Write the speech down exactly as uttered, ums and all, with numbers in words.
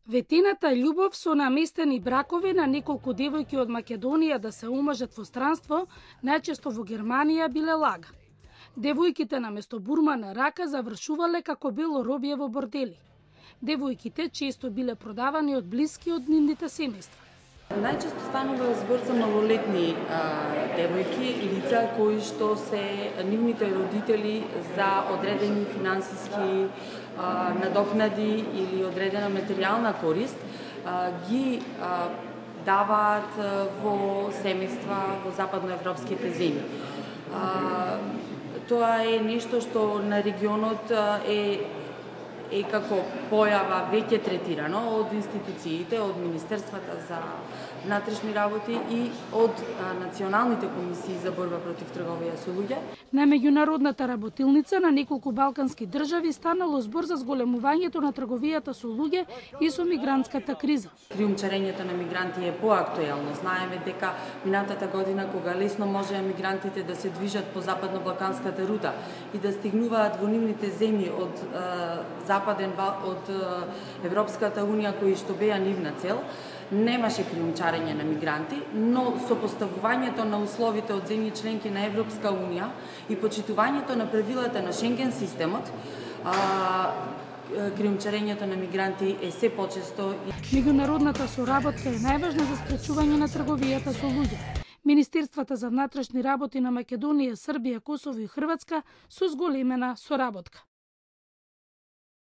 Ветената љубов со наместени бракови на неколку девојки од Македонија да се омажат во странство, најчесто во Германија, биле лага. Девојките наместо бурма на рака завршувале како бело робје во бордели. Девојките често биле продавани од блиски од нивните семејства. Најчесто станува збор за малолетни а, девојки, лица кои што се нивните родители за одредени финансиски а, надокнади или одредена материјална корист а, ги а, даваат во семејства во западноевропските земји. А, тоа е нешто што на регионот е е како појава веќе третирано од институциите, од Министерствата за внатрешни работи и од а, националните комисии за борба против трговија со луѓе. На меѓународната работилница на неколку балкански држави станало збор за зголемувањето на трговијата со луѓе и со мигрантската криза. Криумчарењето на мигранти е поактуелно. Знаеме дека минатата година, кога лесно можеа мигрантите да се движат по западно-балканската рута и да стигнуваат во нивните земји од а, западен од Европската унија, кои што беа нивна цел, немаше криумчарење на мигранти, но сопоставувањето на условите од земји членки на Европска унија и почитувањето на правилата на Шенген системот, а, криумчарењето на мигранти е се почесто. Меѓународната соработка е најважна за спречување на трговијата со луѓе. Министерствата за внатрешни работи на Македонија, Србија, Косово и Хрватска со зголемена соработка.